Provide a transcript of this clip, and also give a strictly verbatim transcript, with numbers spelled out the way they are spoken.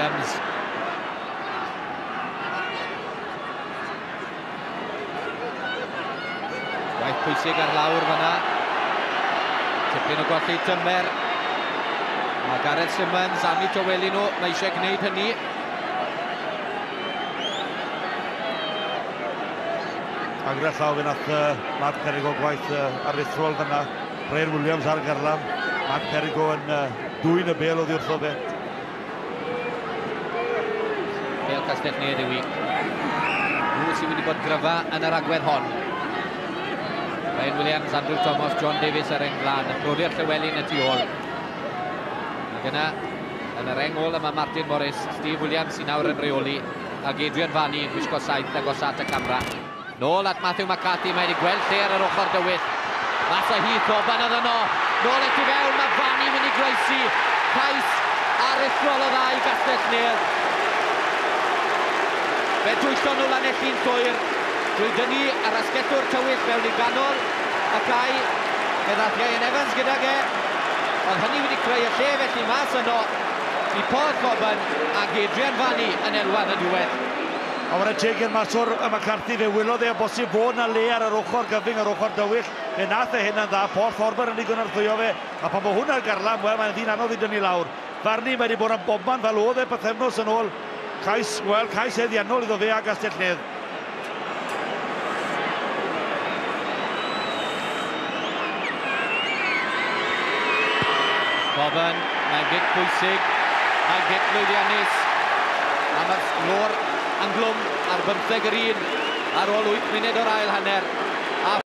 Williams. Gwaith pwysig ar lawr fanna. Tipyn o golli tymer. Mae Gareth Simmons am eu tawelu nhw, mae eisiau gwneud hynny. A gyda llaw fe nath uh, Mark Perigo gwaith uh, aruthrol fanna. Ryan Williams ar garlam. Mark Perigo yn uh, dwyn y bel oddi wrtho fe. Bel Castell Nedd yw i. Nhw sydd wedi bod gryfa yn yr agwedd hon. Ryan Williams, Andrew Thomas, John Davies ar reng flaen. Y brodyr Llywelyn y tu ôl. Ac yna, yn y reng ôl yma Martin Morris, Steve Williams sy'n nawr yn reoli, ac Adrian Fanny yn gwisgo saith agos at y camera. Nôl at Matthew McCarthy, mae wedi gweld lle ar yr ochr dywyll. Mas â hi, Thoban oedd yno. Nôl at i fewn, mae Fanny mynd i groesi. Cais aruthrol o dda i Gastell Nedd. Fe dwyllon nhw Lanelli'n llwyr drwy dynnu ar asgellwr tywyll mewn i ganol y cae. Fe ddath Ian Evans gydag e. Ond hynny wedi creu y lle felly mas yno i Paul Coburn ac Adrian Fanny yn elwa yn y diwedd. A wara teg i'r maswr y McCarthy, fe wylodd e o bosib fod na le ar yr ochr gyfyng, yr ochr dywyll. Fe nath e hynna'n dda, Paul Thorburn yn ei gynorthwyo fe. A pan bod hwnna'r garlam, wel, mae'n ddyn anodd i dynnu lawr. Farni, mae wedi bod yn bobman fel oedd e pythefnos yn ôl. Cais, wel, cais haeddiannol iddo fe a Gastell Nedd. Coburn, mae'n gic pwysig, mae'n gic lwyddiannus. A mae'r sgôr yn glwm ar bymtheg yr un ar ôl wyth munud o'r ail hanner. A